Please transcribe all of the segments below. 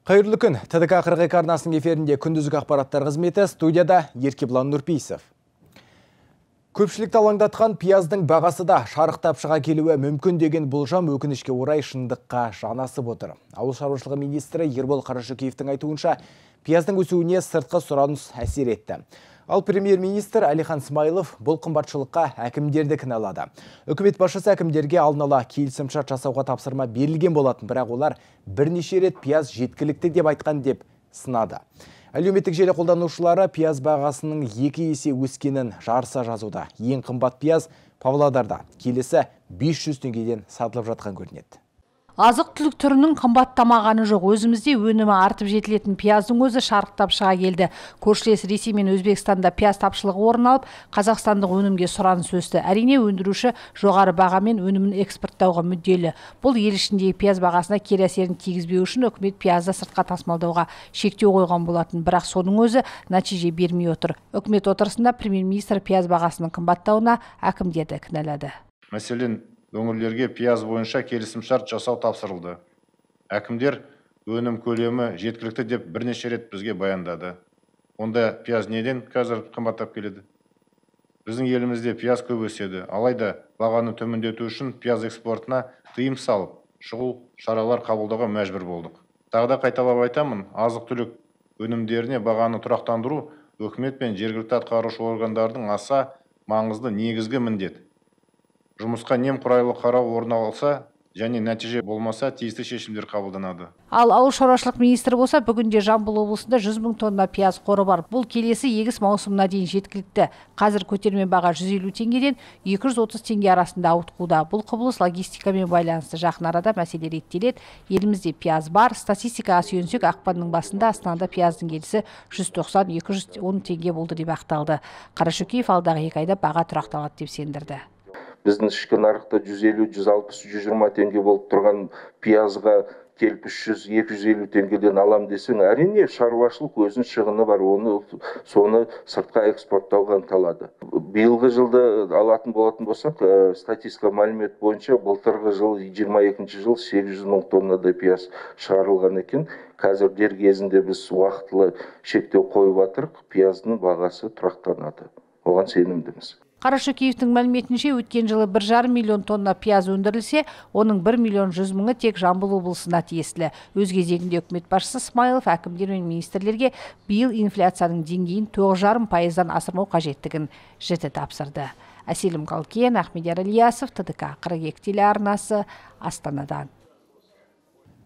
Қайырлы күн. ТДК 42 арнасының эфирінде күндізгі ақпараттар қызметі, студияда Еркебұлан Нұрпейісов. Көпшілікті алаңдатқан пияздың бағасы да шарықтап шыға келуі мүмкін деген болжам өкінішке орай шындыққа жанасып отыр. Ауыл шаруашылығы министрі Ербол Қарашөкеевтің айтуынша, пияздың өсуіне сыртқы сұраныс әсер етті. Ал премьер-министр Әлихан Смайылов бұл қымбатшылыққа әкімдерді кінәлады. Үкімет басшысы әкімдерге алдын ала келісімшарт жасауға тапсырма берілген болатын, бірақ олар бірнеше рет пияз жеткілікті деп айтқан деп сынады. Әлеуметтік желі қолданушылары пияз бағасының 2 есе өскенін жарыса жазуда. Ең қымбат пияз Павлодарда келесі 500 теңгеден сатылып жатқан көрінеді. Азық-түлік түрінің қымбаттамағаны жоқ. Өзімізде өнімі артып жетілетін пияздың өзі шарықтап шыға келді. Көршілес Ресей мен Өзбекстанда пияз тапшылығы орын алып, қазақстандық өнімге сұраныс өсті. Әрине өндіруші жоғары бағамен өнімін экспорттауға мүдделі. Бұл ел ішіндегі пияз бағасына кері әсерін тигізбеу үшін үкімет пиязды сыртқа тасымалдауға шектеу қойған болатын. Бірақ соның өзі нәтиже бермей отыр. Үкімет отырысында премьер-министр пияз бағасының қымбаттауына әкімдерді кінәлады. Мәселен, өңірлерге пияз бойынша келісімшарт жасау тапсырылды. Әкімдер өнім көлемі жеткілікті деп бірнеше рет бізге баяндады. Онда пияз неден қазір қымбаттап келеді? Біздің елімізде пияз көп өседі. Алайда бағаны төмендету үшін пияз экспортына тыйым салып, шұғыл шаралар қабылдауға мәжбүр болдық. Тағы да қайталап айтамын, азық-түлік өнімдеріне бағаны тұрақтандыру үкімет пен жергілікті атқарушы органдардың аса маңызды негізгі міндет. Жұмысқа немқұрайлы қарау орын алса және нәтиже болмаса тиісті шешімдер қабылданады. Ал ауыл шаруашылық министрі болса, бүгінде Жамбыл облысында 100 мың тонна пияз қоры бар. Бұл келесі егіс маусымына дейін жеткілікті. Қазір көтерме баға 150 теңгеден 230 теңге арасында ауытқуда. Бұл құбылыс логистикамен байланысты. Жақын арада мәселе реттеледі. Елімізде пияз бар. Статистикаға сүйенсек, ақпанның басында Астанада пияздың келісі 190-210 теңге болды деп ақталды. Қарашөкеев алдағы 2 айда баға тұрақталады деп сендірді. Біздің ішкі нарықта 150, 160, 120 теңге болып тұрған пиязға келіп 300-250 теңгеден алам десең, әрине шаруашылық өзінің шығыны бар, соны сыртқа экспорттауға ынталады. Биылғы жылды алатын болатын болсақ, статистика мәлімет бойынша былтырғы жыл 22 жыл 800 мың тоннадай пияз шығарылған екен. Қазір дер кезінде біз уақытылы шектеу қойып жатырық, пияздың бағасы тұрақтанады. Оған сенімдіміз. Қарашөкеевтің мәліметінше, өткен жылы 1,5 миллион тонна пияз өндірілсе, оның 1 миллион 100 мыңы тек Жамбыл облысына тиесілі. Өз кезегінде үкімет басшысы Смайылов әкімдер мен министрлерге биыл инфляцияның деңгейін 9,5%-дан асырмау қажеттігін жіті тапсырды. Әселім Қалкен, Ахмедияр Ильясов, ТДК 42 телеарнасы, Астанадан.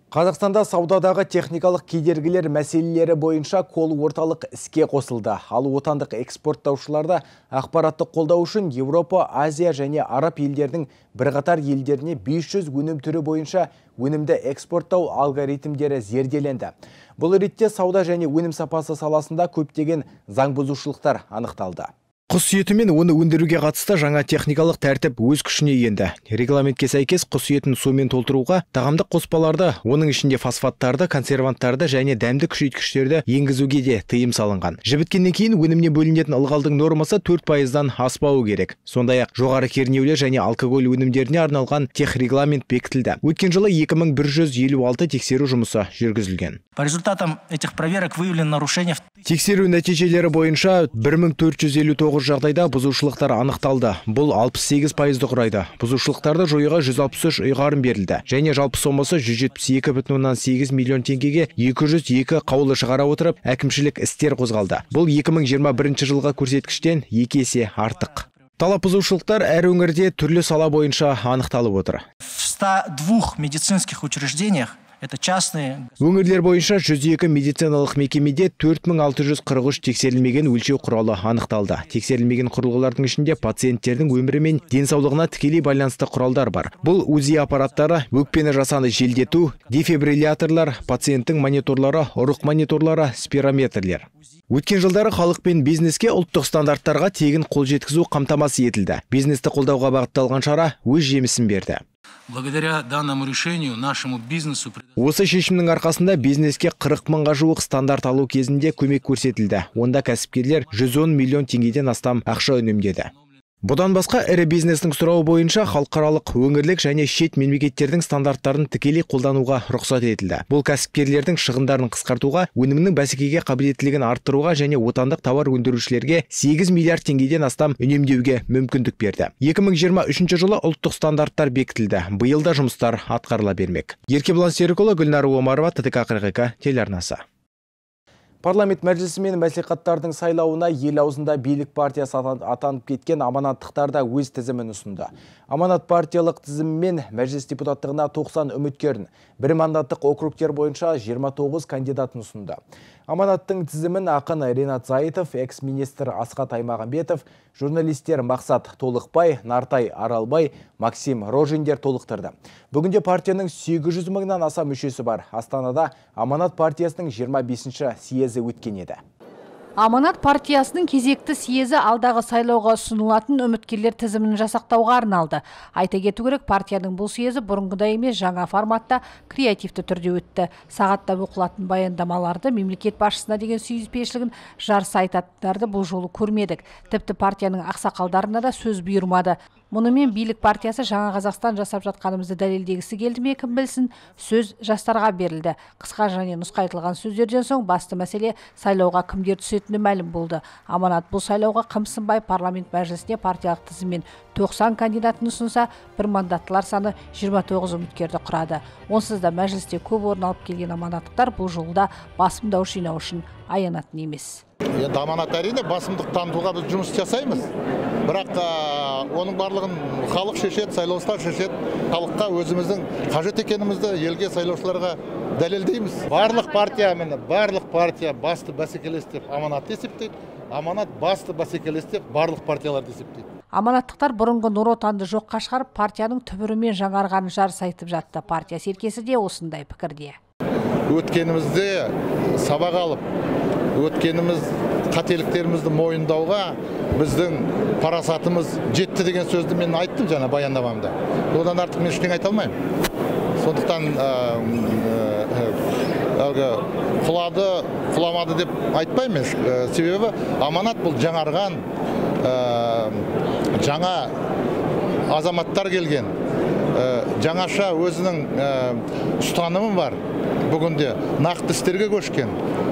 Қазақстанда саудадағы техникалық кедергілер мәселелері бойынша кол орталық іске қосылды. Ал отандық экспорттаушыларды ақпараттық қолдау үшін Еуропа, Азия және Араб елдердің бірқатар елдеріне 500 өнім түрі бойынша өнімді экспорттау алгоритмдері зерделенді. Бұл ретте сауда және өнім сапасы саласында көптеген заңбұзушылықтар анықталды. Құс еті мен оны өндіруге қатысты жаңа техникалық тәртіп өз күшіне енді. Регламентке сәйкес құс етін сумен толтыруға тағамдық қоспаларды, оның ішінде фосфаттарды, консерванттарды және дәмді күшейткіштерді енгізуге де тыйым салынған. Жібіткеннен кейін өнімнен бөлінетін ылғалдың нормасы 4%-дан аспауы керек. Сондай-ақ жоғары кернеулі және алкоголь өнімдеріне арналған техрегламент бекітілді. Өткен жылы 2156 тексеру жұмысы жүргізілген. По результатам этих проверок выявлено нарушение. Тексеру нәтижелері бойынша 1459 жағдайда бұзушылықтар анықталды. Бұл 68% құрайды. Бұзушылықтарды жоюға 163 ұйғарым берілді. Және жалпы сомасы 172,8 миллион теңгеге 202 қаулы шығара отырып, әкімшілік істер қозғалды. Бұл 2021 жылға көрсеткіштен 2 есе артық. Талап бұзушылықтар әр өңірде түрлі сала бойынша анықталып отыр. В 102 медицинских учреждениях это частные. Өңірлер бойынша 102 медициналық мекемеде 4643 тексерілмеген өлшеу құралы анықталды. Тексерілмеген құрылғылардың ішінде пациенттердің өмірі мен денсаулығына тікелей байланысты құралдар бар. Бұл УЗИ аппараттары, өкпені жасанды желдету, дефибрилляторлар, пациенттің мониторлары, ұрық мониторлары, спирометрлер. Өткен жылдары халық пен бизнеске ұлттық стандарттарға тегін қол жеткізу қамтамасыз етілді. Бизнесті қолдауға бағытталған шара өз жемісін берді. Благодаря данному решению нашему бизнесу... Осы шешімнің арқасында бизнеске 40 мыңға жуық стандарт алу кезінде көмек көрсетілді. Онда кәсіпкерлер 110 миллион теңгеден астам ақша үнемдеді. Бұдан басқа ірі бизнестің сұрауы бойынша халықаралық, өңірлік және шет мемлекеттердің стандарттарын тікелей қолдануға рұқсат етілді. Бұл кәсіпкерлердің шығындарын қысқартуға, өнімнің бәсекеге қабілеттілігін арттыруға және отандық тауар өндірушілерге 8 миллиард теңгеден астам үнемдеуге мүмкіндік берді. 2023 жылы ұлттық стандарттар бекітілді. Биыл да жұмыстар атқарыла бермек. Еркебұлан Серікұлы, Гүлнар Омарова, ТТК 42 телеарнасы. Парламент мәжілісі мен мәслихаттардың сайлауына ел аузында билік партиясы атанып кеткен аманаттықтар да өз тізімін ұсынды. Аманат партиялық тізіммен мәжіліс депутаттығына 90 үміткерін, бір мандаттық округтер бойынша 29 кандидатын ұсынды. Аманаттың тізімін ақын Ринат Зайытов, экс-министр Асхат Аймағамбетов, журналистер Мақсат Толықбай, Нартай Аралбай, Максим Рожиндер толықтырды. Бүгінде партияның 800 мыңнан аса мүшесі бар. Астанада Аманат партиясының 25-ші съезі өткен еді. Аманат партиясының кезекті съезі алдағы сайлауға ұсынылатын үміткерлер тізімін жасақтауға арналды. Айта кету керек, партияның бұл съезі бұрынғыдай емес, жаңа форматта креативті түрде өтті. Сағатта оқылатын баяндамаларды, мемлекет басшысына деген сүйіспеншілігін жарыса айтатындарды бұл жолы көрмедік. Тіпті партияның ақсақалдарына да сөз бұйырмады. Мұнымен билік партиясы жаңа Қазақстан жасап жатқанымызды дәлелдегісі келді ме, кім білсін, сөз жастарға берілді. Қысқа және нұсқайтылған сөздерден соң басты мәселе сайлауға кімдер түсетіні мәлім болды. Аманат бұл сайлауға қымсынбай парламент мәжілісіне партиялық тізіммен 90 кандидатын ұсынса, бір мандаттылар саны 29 үміткерді құрады. Онсыз да мәжілісте көп орын алып келген аманаттықтар бұл жолда басым дауыс жинау үшін аянатын емес. Енді аманат әрине басымдық танытуға біз жұмыс жасаймыз. Бірақ оның барлығын халық шешеді, сайлаушылар шешеді. Халыққа өзіміздің қажет екенімізді елге сайлаушыларға дәлелдейміз. Барлық партия басты бәсекелес деп аманат есептейді. Аманат басты бәсекелес деп барлық партияларды есептейді. Аманаттықтар бұрынғы Нұр Отанды жоққа шығарып, партияның түбірімен жаңарғанын жарыса айтып жатты. Партия серкесі де осындай пікірде. Өткенімізде сабақ алып, өткеніміз қателіктерімізді мойындауға біздің парасатымыз жетті деген сөзді мен айттым жаңа баяндамамда. Одан артық мен ештеңе айта алмаймын. Сондықтан құламады деп айтпаймын. Себебі аманат бұл жаңарған, жаңа азаматтар келген, жаңаша өзінің ұстанымы бар. Бүгінде нақты істерге көшкен,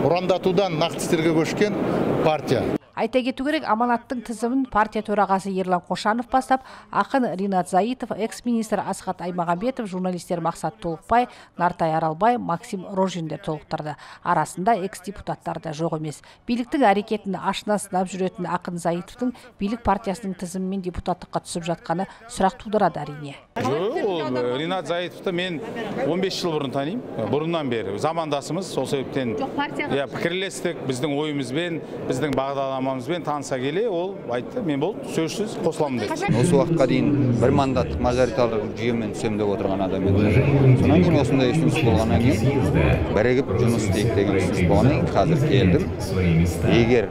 ұрандатудан нақты істерге көшкен партия. Айта кету керек, аманаттың тізімін партия төрағасы Ерлан Қошанов бастап, ақын Ринат Зайытов, экс-министр Асхат Аймағамбетов, журналистер Мақсат Толықбай, Нартай Аралбай, Максим Рожиндер толықтырды. Арасында экс-депутаттар да жоқ емес. Биліктің әрекетін ашына сынап жүретін ақын Зайытовтың билік партиясының тізімімен депутаттыққа түсіп жатқаны сұрақ тудырады әрине. Ол Ринат Зайытовты мен 15 жыл бұрын танимын. Бұрыннан бері замандасымыз, сол себептен пікірлестік, біздің ойымызбен, біздің бағдарламамызбен таныса келе, ол айтты, мен бұл сөзсіз қосыламын деді. Осы уақытқа дейін бір мандаттық мажоритарлық жүйемен түсем деп отырған адам еді. Сонан кейін осындай ұсыныс болғаннан кейін бірігіп жұмыс істейік деген ұсыныс болғаннан кейін қазір келдім. Егер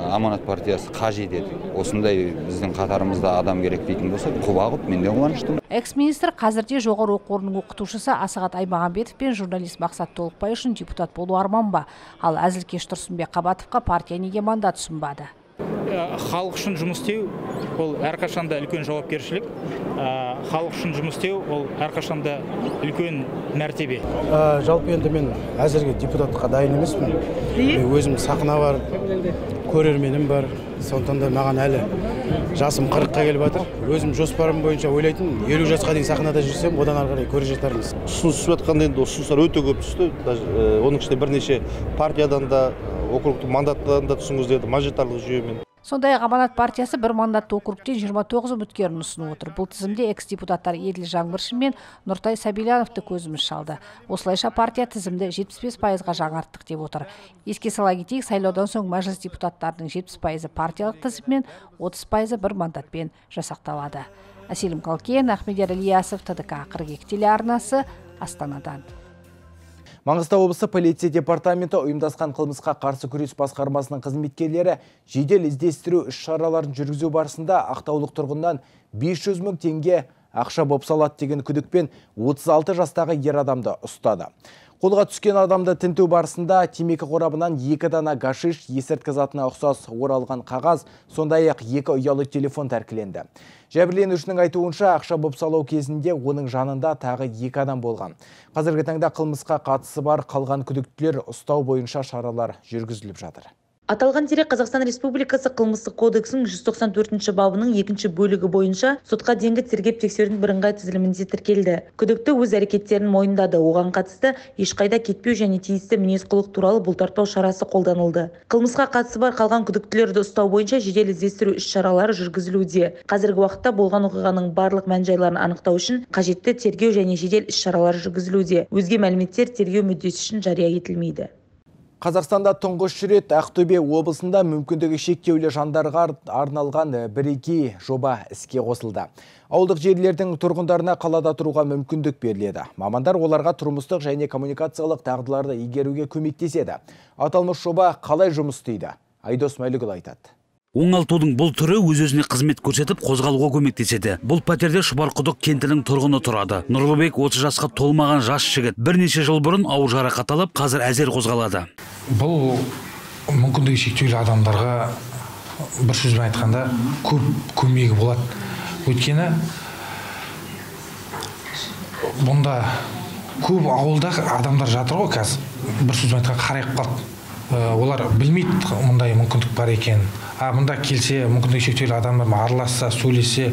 Аманат партиясы қажет еді, осындай біздің қатарымызда адам керек дейтін болса, құба-құп, мен де қуаныштымын. Экс-министр қазірде жоғары оқу орнының оқытушысы Асхат Аймағамбетов пен журналист Мақсат Толықбай үшін депутат болу арман ба? Ал Әзілкеш Тұрсынбек Қабатовқа партия неге мандат ұсынбады? Халық үшін жұмыс істеу ол әрқашанда үлкен жауапкершілік. Халық үшін жұмыс істеу ол әрқашанда үлкен мәртебе. Жалпы енді мен әзірге депутатқа дайын емеспін. Өзім сахна бар, көрерменім бар. Сондықтан да маған әлі жасым 40-қа келіп жатыр. Өзім жоспарым бойынша ойлайтын 50 жасқа дейін сахнада жүрсем, одан ары қарай көре жатармыз. Ұсыныс түсіп жатқанда енді ұсыныстар өте көп түсті. Оның ішінде бірнеше партиядан да, округтық мандаттан да түсіңіз деді, мажоритарлық жүйемен. Сондай Аманат партиясы бір мандатты округтен 29 үміткерін ұсынып отыр. Бұл тізімде экс-депутаттар Еділ Жаңбыршин мен Нұртай Сабильяновты көзіміз шалды. Осылайша партия тізімді 75%-ға жаңарттық деп отыр. Еске сала кетейік, сайлаудан соң мәжіліс депутаттарының 70%-ы партиялық тізіммен, 30%-ы бір мандатпен жасақталады. Әселім Қалкен, Ахмедияр Ильясов, ТТК 42 телеарнасы, Астанадан. Маңғыстау облысы полиция департаменті ұйымдасқан қылмысқа қарсы күрес басқармасының қызметкерлері жедел іздестіру іс-шараларын жүргізу барысында ақтаулық тұрғыннан 500 мың теңге ақша боп салады деген күдікпен 36 жастағы ер адамды ұстады. Қолға түскен адамды тінту барысында темекі қорабынан 2 дана гашиш, есірткі затына ұқсас оралған қағаз, сондай-ақ 2 ұялы телефон тәркіленді. Жәбірленушінің айтуынша ақша бопсалау кезінде оның жанында тағы 2 адам болған. Қазіргі таңда қылмысқа қатысы бар қалған күдіктілер ұстау бойынша шаралар жүргізіліп жатыр. Аталған дерек Қазақстан Республикасы қылмыстық кодексінің 194 бабының 2 бөлігі бойынша сотқа дейінгі тергеп-тексерудің бірыңғай тізілімінде тіркелді. Күдікті өз әрекеттерін мойындады. Оған қатысты ешқайда кетпеу және тиісті мінез-құлық туралы бұлтартпау шарасы қолданылды. Қылмысқа қатысы бар қалған күдіктілерді ұстау бойынша жедел іздестіру іс-шаралары жүргізілуде. Қазіргі уақытта болған оқиғаның барлық мән-жайларын анықтау үшін қажетті тергеу және жедел іс-шаралары жүргізілуде. Өзге мәліметтер тергеу мүддесі үшін жария етілмейді. Қазақстанда тұңғыш рет Ақтөбе облысында мүмкіндігі шектеулі жандарға арналған бірегей жоба іске қосылды. Ауылдық жерлердің тұрғындарына қалада тұруға мүмкіндік беріледі. Мамандар оларға тұрмыстық және коммуникациялық дағдыларды игеруге көмектеседі. Аталмыш жоба қалай жұмыс істейді? Айдос Мәлікұлы айтады. Оңалтудың бұл түрі өз-өзіне қызмет көрсетіп, қозғалуға көмектеседі. Бұл пәтерде Шұбарқұдық кентінің тұрғыны тұрады. Нұрлыбек 30 жасқа толмаған жас жігіт. Бірнеше жыл бұрын ауыр жарақат алып, қазір әзер қозғалады. Бұл мүмкіндігі шектеулі адамдарға бір сөзбен айтқанда көп көмегі болады. Өйткені бұнда көп ауылда адамдар жатыр ғой, қазір бір сөзбен айтқанда қарайып қалды. Олар білмейді мұндай мүмкіндік бар екен. Мұнда келсе, мүмкіндігі шектеулі адамдар араласса, сөйлесе,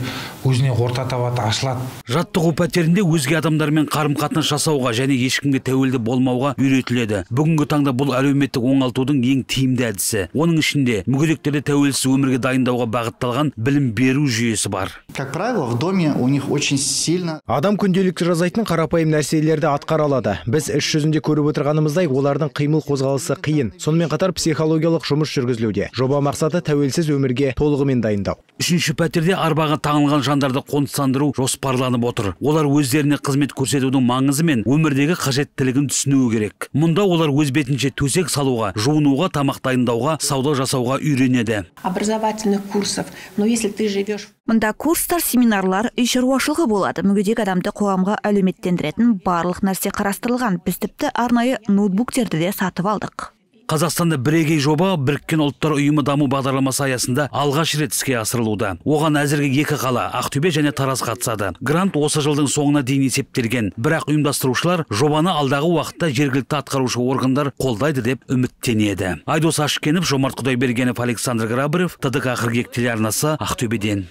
өзіне орта табады, ашылады. Жаттығу пәтерінде өзге адамдармен қарым-қатынас жасауға және ешкімге тәуелді болмауға үйретіледі. Бүгінгі таңда бұл әлеуметтік оңалтудың ең тиімді әдісі. Оның ішінде мүгедектерді тәуелсіз өмірге дайындауға бағытталған білім беру жүйесі бар. Как правило, в доме у них очень сильно. Адам күнделікті жасайтын қарапайым нәрселерді атқара алады. Біз іс жүзінде көріп отырғанымыздай, олардың қимыл қозғалысы қиын. Сонымен қатар психологиялық жұмыс жүргізілуде. Жоба мақсаты тәуелсіз өмірге толығымен дайындау. Үшінші пәтерде арбаға таңылған жандарды қоныстандыру жоспарланып отыр. Олар өздеріне қызмет көрсетудің маңызы мен өмірдегі қажеттілігін түсінуі керек. Мұнда олар өз бетінше төсек салуға, жуынуға, тамақ дайындауға, сауда жасауға үйренеді. Образовательных курсов, но если ты живешь... Мұнда курстар, семинарлар, үй шаруашылығы болады. Мүгедек адамды қоғамға әлеуметтендіретін барлық нәрсе қарастырылған. Біз тіпті арнайы ноутбуктерді де сатып алдық. Қазақстанда бірегей жоба Біріккен ұлттар ұйымы даму бағдарламасы аясында алғаш рет іске асырылуда. Оған әзірге 2 қала, Ақтөбе және Тараз қатысады. Грант осы жылдың соңына дейін есептелген. Бірақ ұйымдастырушылар жобаны алдағы уақытта жергілікті атқарушы органдар қолдайды деп үміттенеді. Айдос Ашкенов, Жомарт Құдайбергенов, Александр Грабарев, ТДК қыркүйек телеарнасы, Ақтөбеден.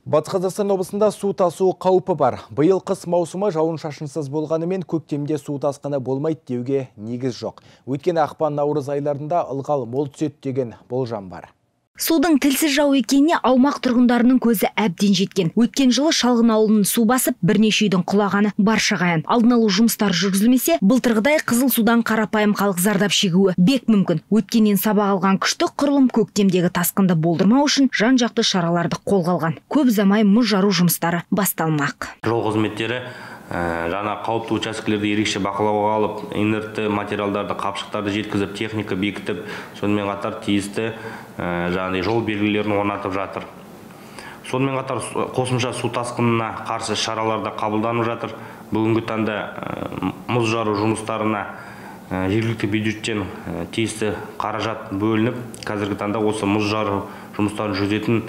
Батыс Қазақстан облысында су тасу қаупі бар. Биыл қыс маусымы жауын-шашынсыз болғанымен көктемде су тасқыны болмайды деуге негіз жоқ. Өйткені ақпан-наурыз айларында ылғал мол түседі деген болжам бар. Судың тілсіз жау екеніне аумақ тұрғындарының көзі әбден жеткен. Өткен жылы Шалғын ауылын су басып, бірнеше үйдің құлағаны баршаға аян. Алдын алу жұмыстары жүргізілмесе, былтырғыдай қызыл судан қарапайым халық зардап шегуі бек мүмкін. Өткеннен сабақ алған күштік құрылым көктемдегі тасқынды болдырмау үшін жан-жақты шараларды қолға алған. Көп ұзамай мұз жару жұмыстары басталмақ. Жол қызметтері жаңа қауіпті учаскелерді ерекше бақылауға алып, инертті материалдарды, қапшықтарды жеткізіп, техника бекітіп, сонымен қатар тиісті жол белгілерін орнатып жатыр. Сонымен қатар қосымша су тасқынына қарсы шараларда қабылданып жатыр. Бүгінгі таңда мұз жару жұмыстарына жергілікті бюджеттен тиісті қаражат бөлініп, қазіргі таңда осы мұз жару жұмыстарын жүргізетін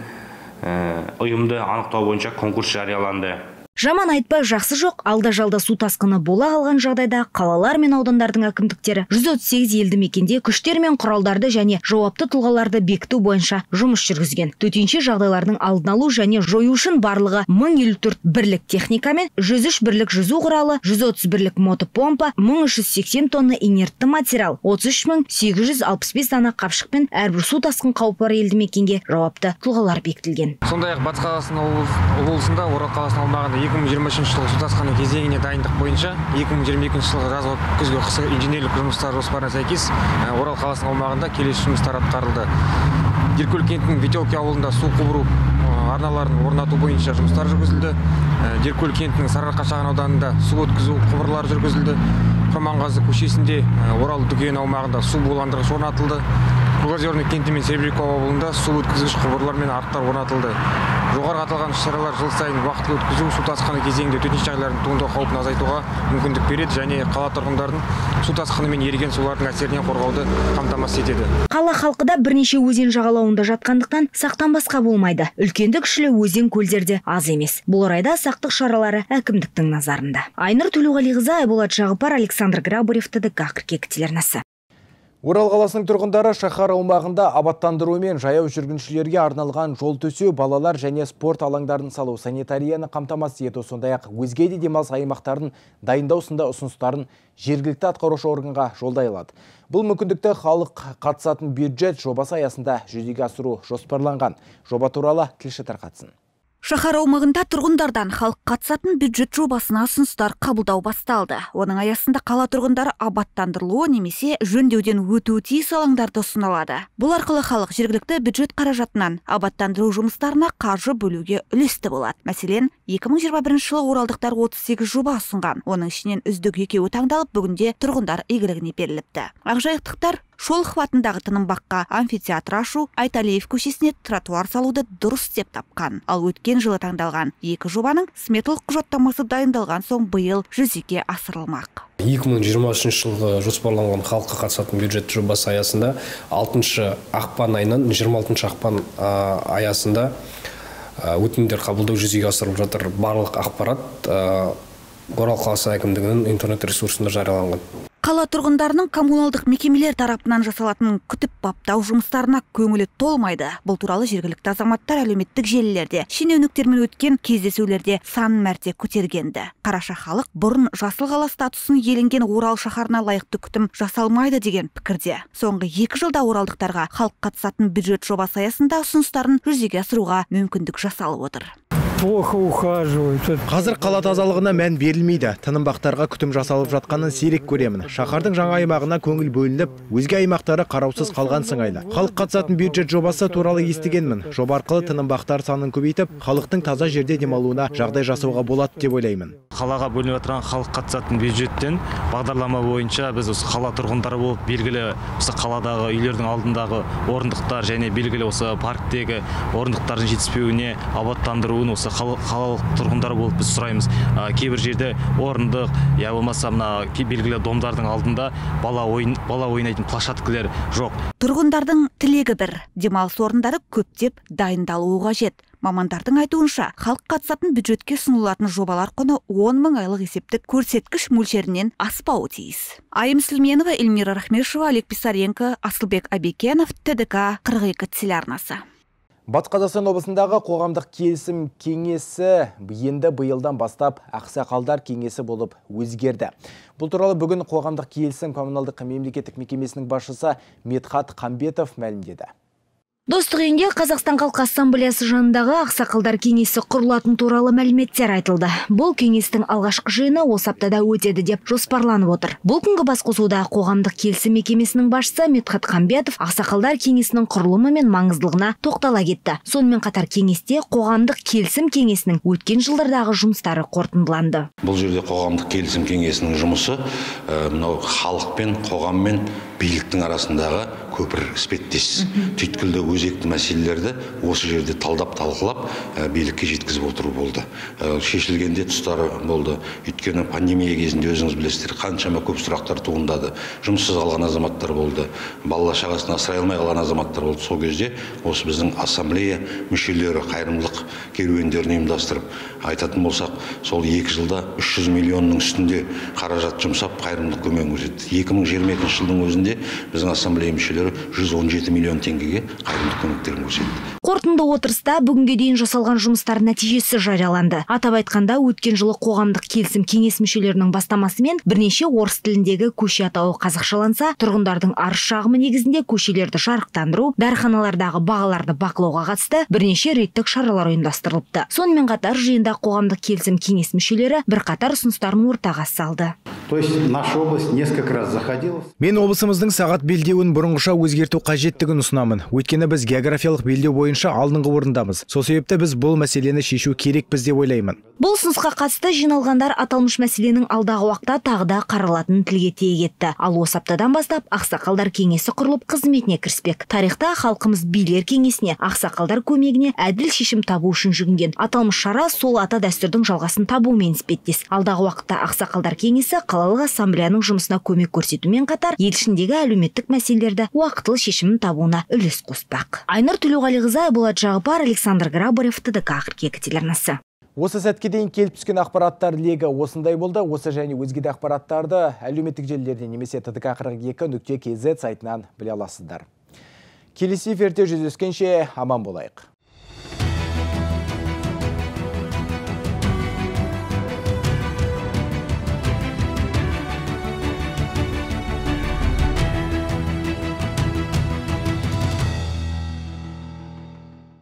ұйымды анықтау бойынша конкурс жарияланды. Жаман айтпай жақсы жоқ, алда-жалда су тасқыны бола қалған жағдайда қалалар мен аудандардың әкімдіктері 138 елді мекенде күштер мен құралдарды және жауапты тұлғаларды бекіту бойынша жұмыс жүргізген. Төтенше жағдайлардың алдын алу және жою үшін барлығы 1054 бірлік техника мен 103 бірлік жүзу құралы, 130 бірлік мотопомпа, 1380 тонна инертті материал, 33865 дана қапшық пен әрбір су тасқын қаупі бар елді мекенге жауапты тұлғалар бекітілген. Сондай-ақ Батыс Қазақстан облысында Орал қаласының аумағында 2023 жылғы су тасқыны кезеңіне дайындық бойынша 2022 жылғы жазғы күзгі қысқы инженерлік жұмыстар жоспарына сәйкес Орал қаласының аумағында келесі жұмыстар атқарылды. Деркөл кентінің Ветелки ауылында су құбыру арналарын орнату бойынша жұмыстар жүргізілді. Деркөл кентінің Сарыарқа шағын ауданында су өткізу құбырлары жүргізілді. Құрманғазы көшесінде Орал дүкен аумағында су буландырғыш орнатылды. Кругозерный кенті мен Серебрякова ауылында су өткізгіш құбырлар мен арықтар орнатылды. Жоғарғы аталған шаралар жыл сайын уақытылы өткізу су тасқыны кезеңінде төтенше жағдайлардың туындау қаупін азайтуға мүмкіндік береді және қала тұрғындарын су тасқыны мен еріген сулардың әсерінен қорғауды қамтамасыз етеді. Қала халқы да бірнеше өзен жағалауында жатқандықтан сақтанбасқа болмайды. Үлкенді кішілі өзен көлдерде аз емес. Бұл орайда сақтық шаралары әкімдіктің назарында. Айнұр Төлеуғалиқызы, Айболат Жағыпар, Александр Грабарев, ТДК қыркүйек телеарнасы. Орал қаласының тұрғындары шаһар аумағында абаттандыру мен жаяу жүргіншілерге арналған жол төсеу, балалар және спорт алаңдарын салу, санитарияны қамтамасыз ету, сондай-ақ өзге де демалыс аймақтарын дайындау сынды ұсыныстарын жергілікті атқарушы органға жолдай алады. Бұл мүмкіндікті халық қатысатын бюджет жобасы аясында жүзеге асыру жоспарланған. Жоба туралы тілші тарқатсын. Шаһар аумағында тұрғындардан халық қатысатын бюджет жобасына ұсыныстар қабылдау басталды. Оның аясында қала тұрғындары абаттандырылуы немесе жөндеуден өтуі тиіс алаңдарды ұсынылады. Бұл арқылы халық жергілікті бюджет қаражатынан абаттандыру жұмыстарына қаржы бөлуге үлесті болады. Мәселен, 2021 жылы оралдықтар 38 жоба ұсынған. Оның ішінен үздік екеуі таңдалып, бүгінде тұрғындар игілігіне беріліпті. Ақжайықтықтар Шолохов атындағы Тынымбаққа амфитеатр ашу, Айталиев көшесіне тротуар салуды дұрыс деп тапқан. Ал өткен жылы таңдалған екі жобаның сметалық құжаттамасы дайындалған соң биыл жүзеге асырылмақ. 2023 жылғы жоспарланған халыққа қатысатын бюджет жобасы аясында 6 ақпан айынан 26 ақпан аясында өтінімдер қабылдау жүзеге асырылып жатыр. Барлық ақпарат Орал қаласы әкімдігінің интернет ресурсында жарияланған. Қала тұрғындарының коммуналдық мекемелер тарапынан жасалатын күтіп баптау жұмыстарына көңілі толмайды. Бұл туралы жергілікті азаматтар әлеуметтік желілерде, шенеуніктермен өткен кездесулерде сан мәрте көтергенді. Қараша халық бұрын жасыл қала статусын иеленген Орал шаһарына лайықты күтім жасалмайды деген пікірде. Соңғы 2 жылда оралдықтарға халық қатысатын бюджет жобасы аясында ұсыныстарын жүзеге асыруға мүмкіндік жасалып отыр. Плохо ухаживают. Қазір қала тазалығына мән берілмейді. Тынымбақтарға күтім жасалып жатқанын сирек көремін. Шаһардың жаңа аймағына көңіл бөлініп, өзге аймақтары қараусыз қалған сыңайлы. Халық қатысатын бюджет жобасы туралы естігенмін. Жоба арқылы тынымбақтар санын көбейтіп, халықтың таза жерде демалуына жағдай жасауға болады деп ойлаймын. Қалаға бөлініп отырған халық қатысатын бюджеттен бағдарлама бойынша біз осы қала тұрғындары болып белгілі осы қаладағы үйлердің алдындағы орындықтар және белгілі осы парктегі орындықтардың жетіспеуіне абаттандыруын осы қалалық тұрғындары болып біз сұраймыз. Кейбір жерде орындық, я болмаса мына белгілі домдардың алдында бала ойнайтын площадкалар жоқ. Тұрғындардың тілегі бір, демалыс орындары көптеп дайындалуы қажет. Мамандардың айтуынша, халық қатысатын бюджетке ұсынылатын жобалар құны 10 мың айлық есептік көрсеткіш мөлшерінен аспауы тиіс. Айым Сүлменова, Эльмира Рахмешева, Олег Писаренко, Асылбек Абекенов, ТДК 42 телеарнасы. Батыс Қазақстан облысындағы қоғамдық келісім кеңесі енді биылдан бастап ақсақалдар кеңесі болып өзгерді. Бұл туралы бүгін қоғамдық келісім коммуналдық мемлекеттік мекемесінің басшысы Медхат Қамбетов мәлімдеді. Достық үйінде Қазақстан Халқы Ассамблеясы жанындағы ақсақалдар кеңесі құрылатын туралы мәліметтер айтылды. Бұл кеңестің алғашқы жиыны осы аптада өтеді деп жоспарланып отыр. Бұл күнгі басқосуда қоғамдық келісім мекемесінің басшысы Медхат Қамбетов ақсақалдар кеңесінің құрылымы мен маңыздылығына тоқтала кетті. Сонымен қатар кеңесте қоғамдық келісім кеңесінің өткен жылдардағы жұмыстары қорытындыланды. Бұл жерде қоғамдық келісім кеңесінің жұмысы мынау халықпен, қоғаммен, биліктің арасындағы көпір іспеттес. Түйткілді өзекті мәселелерді осы жерде талдап талқылап билікке жеткізіп отыру болды. Шешілгенде тұстары болды. Өйткені пандемия кезінде өзіңіз білесіздер, қаншама көп сұрақтар туындады. Жұмыссыз қалған азаматтар болды. Балала шағасын асырай алмай қалған азаматтар болды. Сол кезде осы біздің ассамблея мүшелері қайырымдылық керуендерін ұйымдастырып айтатын болсақ, сол 2 жылда 300 миллионның үстінде қаражат жұмсап қайырымдылық көмегін көрсетті. 2022 жылдың өзінде біздің ассамблея мүшелері 117 миллион теңгеге қайырымдылық көмектерін көрсетті. Қорытынды отырыста бүгінге дейін жасалған жұмыстар нәтижесі жарияланды. Атап айтқанда, өткен жылы қоғамдық келісім кеңес мүшелерінің бастамасымен бірнеше орыс тіліндегі көше атауы қазақшаланса, тұрғындардың арыз-шағымы негізінде көшелерді жарықтандыру, дәріханалардағы бағаларды бақылауға қатысты бірнеше реттік шаралар ұйымдастырылыпты. Сонымен қатар жиында қоғамдық келісім кеңес мүшелері бірқатар ұсыныстарын ортаға салды. То есть наша область несколько раз заходила. Мен облысымыздың сағат белдеуін бұрынғыша өзгерту қажеттігін ұсынамын. Өйткені біз географиялық белдеу бойынша алдыңғы орындамыз. Сол себепті біз бұл мәселені шешу керекпіз деп ойлаймын. Бұл ұсынысқа қатысты жиналғандар аталмыш мәселенің алдағы уақытта тағы да қаралатынын тілге тиек етті. Ал осы аптадан бастап ақсақалдар кеңесі құрылып қызметіне кіріспек. Тарихта халқымыз билер кеңесіне, ақсақалдар көмегіне әділ шешім табу үшін жүгінген. Аталмыш шара сол ата дәстүрдің жалғасын табумен іспеттес. Алдағы уақытта ақсақалдар кеңесі қалалық ассамблеяның жұмысына көмек көрсетумен қатар ел ішіндегі әлеуметтік мәселелерді уақытылы шешімін табуына үлес қоспақ. Айнұр Төлеуғалиқызы, Болат Жағыпар, Александр Грабарев, ТДК қыркүйек телеарнасы. Осы сәтке дейін келіп түскен ақпараттар легі осындай болды. Осы және өзге де ақпараттарды әлеуметтік желілерден немесе ttk42.kz сайтынан біле аласыздар. Келесі эфирде жүздескенше аман болайық.